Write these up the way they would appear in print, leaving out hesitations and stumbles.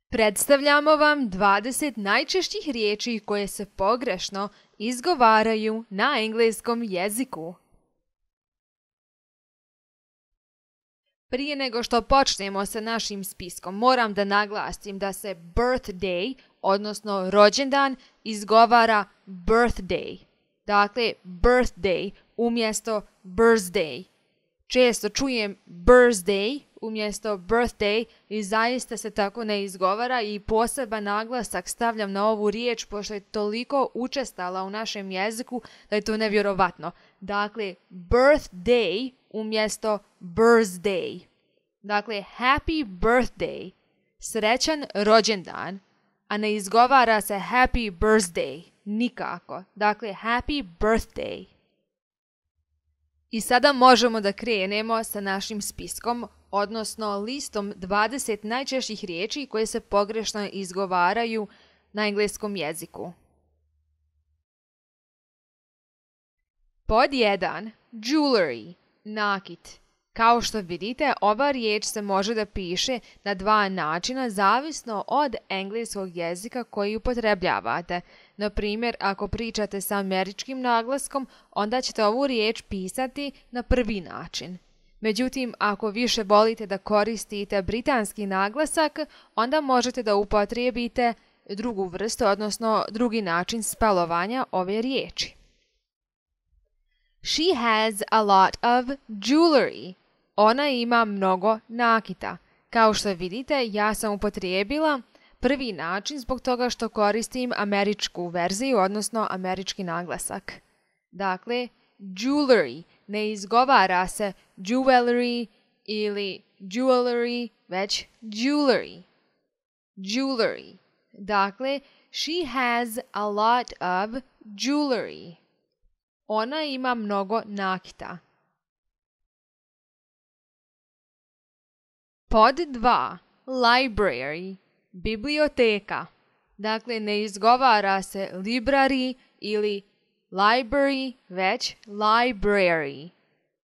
Predstavljamo vam 20 najčešćih riječi koje se pogrešno izgovaraju na engleskom jeziku. Prije nego što počnemo sa našim spiskom, moram da naglasim da se birthday, odnosno rođendan, izgovara birthday. Dakle, birthday umjesto birthday. Često čujem birthday umjesto birthday i zaista se tako ne izgovara i poseban naglasak stavljam na ovu riječ pošto je toliko učestala u našem jeziku da je to nevjerovatno. Dakle, birthday umjesto birthday. Dakle, happy birthday, srećan rođendan, a ne izgovara se happy birthday, nikako. Dakle, happy birthday. I sada možemo da krenemo sa našim spiskom, odnosno listom 20 najčešćih riječi koje se pogrešno izgovaraju na engleskom jeziku. Pod 1. Jewelry, nakit. Kao što vidite, ova riječ se može da piše na dva načina zavisno od engleskog jezika koji upotrebljavate. Na primjer, ako pričate sa američkim naglaskom, onda ćete ovu riječ pisati na prvi način. Međutim, ako više volite da koristite britanski naglasak, onda možete da upotrijebite drugu vrstu, odnosno drugi način spelovanja ove riječi. She has a lot of jewelry. Ona ima mnogo nakita. Kao što vidite, ja sam upotrijebila prvi način zbog toga što koristim američku verziju, odnosno američki naglasak. Dakle, jewelry ne izgovara se jewelry ili jewelry, već jewelry. Jewelry. Dakle, she has a lot of jewelry. Ona ima mnogo nakita. Pod 2. Library, biblioteka. Dakle, ne izgovara se library ili library, već library.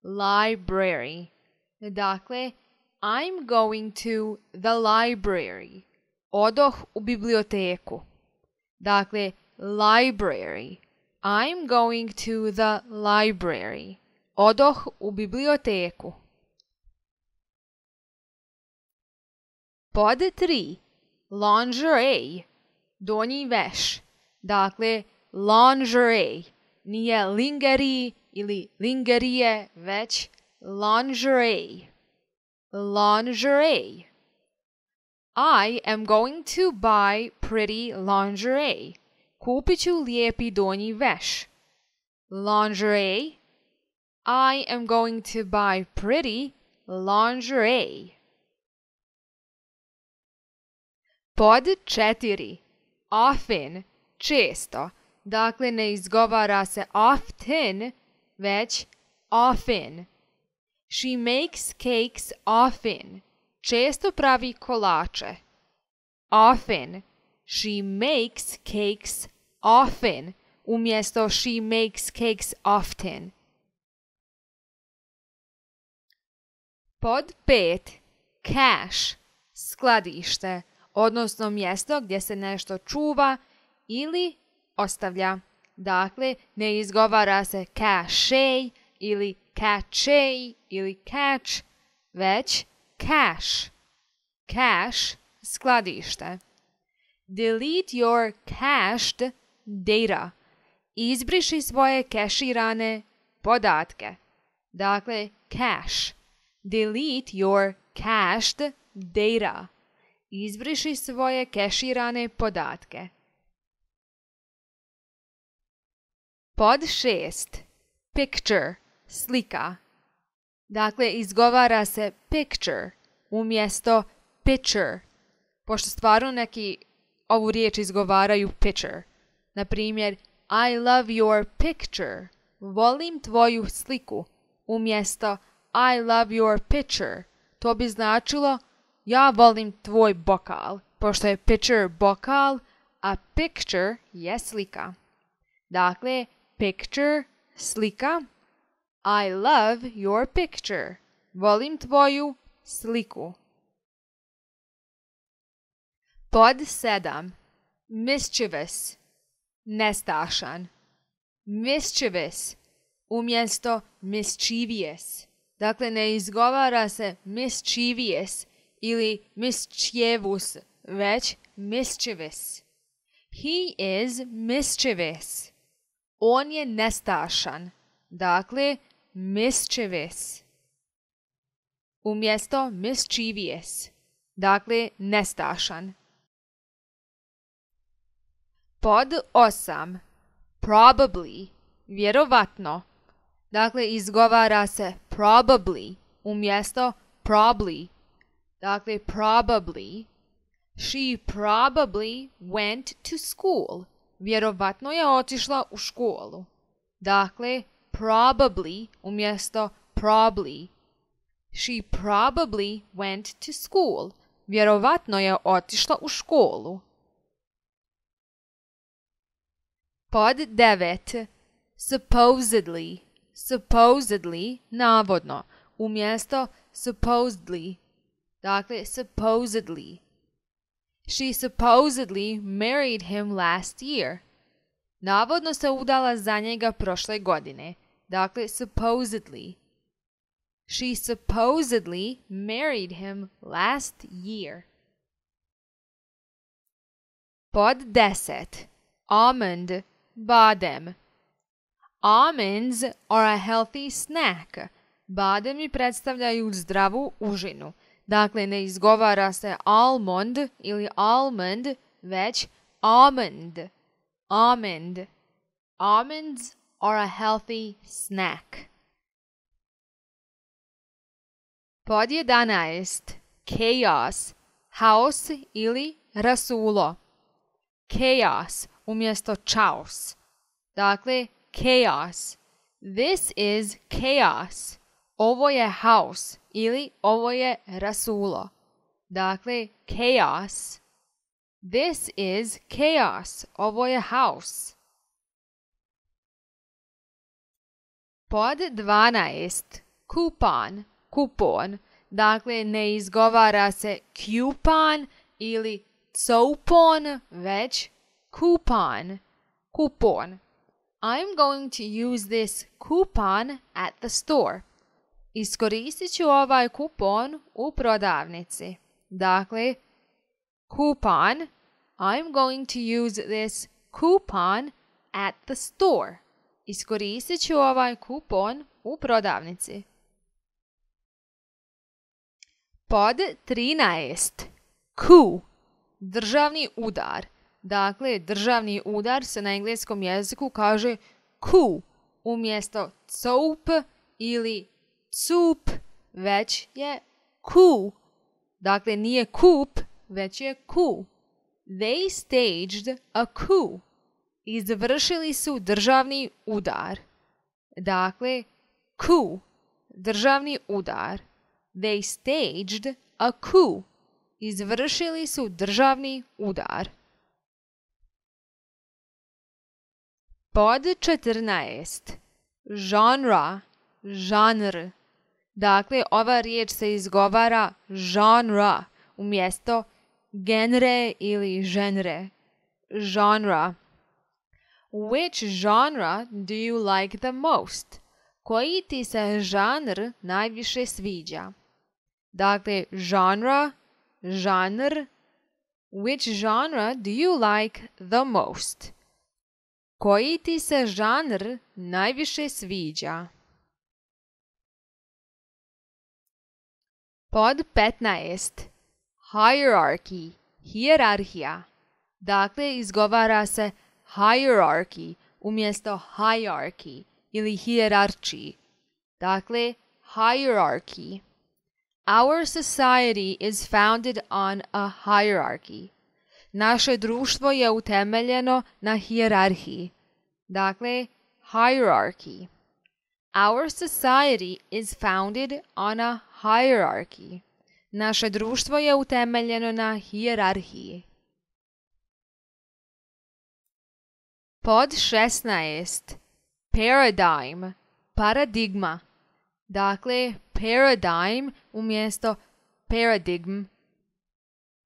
Library. Dakle, I'm going to the library. Odoh u biblioteku. Dakle, library. I'm going to the library. Odoh u biblioteku. Pod 3. Lingerie, donji veš. Dakle, lingerie. Nije lingerie ili lingerije, već lingerie. Lingerie. I am going to buy pretty lingerie. Kupit ću lijepi donji veš. Lingerie. I am going to buy pretty lingerie. Pod 4. Often, često. Dakle, ne izgovara se often, već often. She makes cakes often. Često pravi kolače. Often. She makes cakes often. Umjesto she makes cakes often. Pod 5. Cache, skladište, odnosno mjesto gdje se nešto čuva ili ostavlja. Dakle, ne izgovara se cache ili cache ili catch, već cache. Cache, skladište. Delete your cached data. Izbriši svoje keširane podatke. Dakle, cache. Delete your cached data. Izbriši svoje keširane podatke. Pod 6. Picture, slika. Dakle, izgovara se picture umjesto picture, pošto stvarno neki ovu riječ izgovaraju picture. Na primjer, I love your picture. Volim tvoju sliku. Umjesto I love your pitcher. To bi značilo ja volim tvoj bokal, pošto je pitcher bokal, a picture je slika. Dakle, picture, slika. I love your picture. Volim tvoju sliku. Pod 7. Mischievous, nestašan. Mischievous umjesto mischievous. Dakle, ne izgovara se mischievous ili mischievous, već mischievous. He is mischievous. On je nestašan. Dakle, mischievous. Umjesto mischievous. Dakle, nestašan. Pod 8. Probably, vjerovatno. Dakle, izgovara se probably umjesto probably. Dakle, probably. She probably went to school. Vjerovatno je otišla u školu. Dakle, probably umjesto probably. She probably went to school. Vjerovatno je otišla u školu. Pod 9. Supposedly. Supposedly, navodno, umjesto supposedly. Dakle, supposedly. She supposedly married him last year. Navodno se udala za njega prošle godine. Dakle, supposedly. She supposedly married him last year. Pod 10. Almond, badem. Almonds are a healthy snack. Bademi predstavljaju zdravu užinu. Dakle, ne izgovara se almond ili almond, već almond. Almond. Almonds are a healthy snack. Pod 11. Chaos, haos ili rasulo. Chaos umjesto chaos. Dakle, chaos. This is chaos. Ovo je haos ili ovo je rasulo. Dakle, chaos. This is chaos. Ovo je haos. Pod 12. Coupon, kupon. Dakle, ne izgovara se coupon ili coupon, već coupon, kupon. I'm going to use this coupon at the store. Iskoristit ću ovaj kupon u prodavnici. Dakle, coupon. I'm going to use this coupon at the store. Iskoristit ću ovaj kupon u prodavnici. Pod 13. Coup, državni udar. Dakle, državni udar se na engleskom jeziku kaže coup umjesto coup ili cup, već je coup. Dakle, nije kup, već je coup. They staged a coup. Izvršili su državni udar. Dakle, coup, državni udar. They staged a coup. Izvršili su državni udar. Pod 14. Genre, žanr. Dakle, ova riječ se izgovara genre umjesto genre ili ženre. Genre. Which genre do you like the most? Koji ti se žanr najviše sviđa? Dakle, genre, žanr. Which genre do you like the most? Koji ti se žanr najviše sviđa? Pod 15. Hierarchy, hijerarhija. Dakle, izgovara se hierarchy umjesto hierarchy ili hijerarčiji. Dakle, hierarchy. Our society is founded on a hierarchy. Naše društvo je utemeljeno na hijerarhiji. Dakle, hierarchy. Our society is founded on a hierarchy. Naše društvo je utemeljeno na hijerarhiji. Pod 16. Paradigm, paradigma. Dakle, paradigm umjesto paradigm.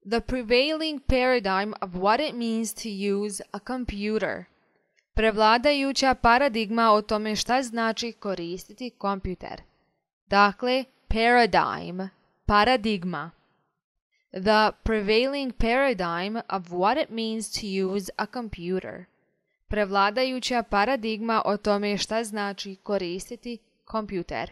The prevailing paradigm of what it means to use a computer. Prevladajuća paradigma o tome šta znači koristiti kompjuter. Dakle, paradigm, paradigma. The prevailing paradigm of what it means to use a computer. Prevladajuća paradigma o tome šta znači koristiti kompjuter.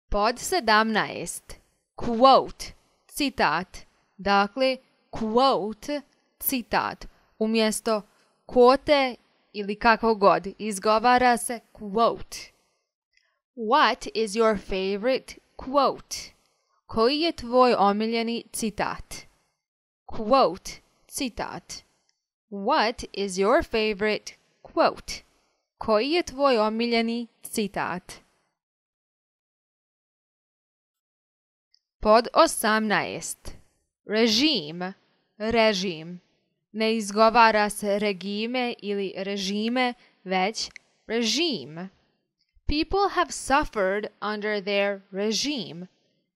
Pod 17. Quote, citat. Dakle, quote, citat. Umjesto kvote ili kako god, izgovara se quote. What is your favorite quote? Koji je tvoj omiljeni citat? Quote, citat. What is your favorite quote? Koji je tvoj omiljeni citat? Pod 18. Režim, režim. Ne izgovara se regime ili režime, već režim. People have suffered under their regime.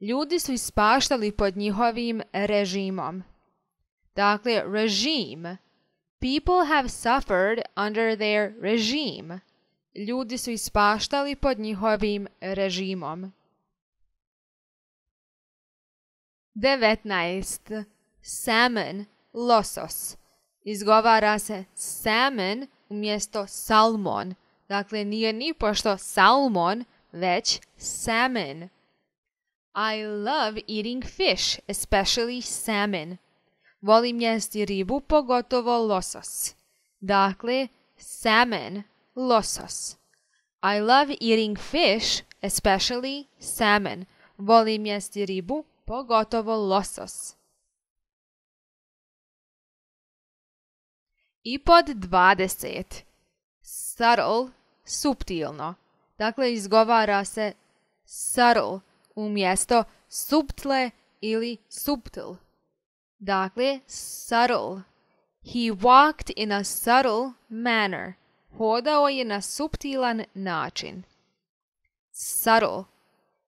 Ljudi su ispaštali pod njihovim režimom. Dakle, režim. People have suffered under their regime. Ljudi su ispaštali pod njihovim režimom. 19. Salmon, losos. Izgovara se salmon umjesto salmon. Dakle, nije ni pošto salmon, već salmon. I love eating fish, especially salmon. Volim jesti ribu, pogotovo losos. Dakle, salmon, losos. I love eating fish, especially salmon. Volim jesti ribu, pogotovo losos. I pod 20. Subtle, suptilno. Dakle, izgovara se subtle umjesto subtle ili subtil. Dakle, subtle. He walked in a subtle manner. Hodao je na suptilan način. Subtle.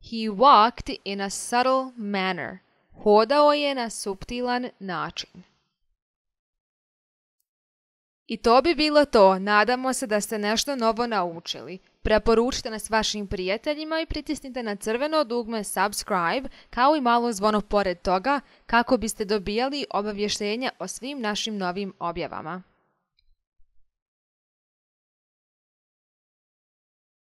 He walked in a subtle manner. Hodao je na suptilan način. I to bi bilo to. Nadamo se da ste nešto novo naučili. Preporučite nas vašim prijateljima i pritisnite na crveno dugme subscribe kao i malo zvono pored toga kako biste dobijali obavještenja o svim našim novim objavama.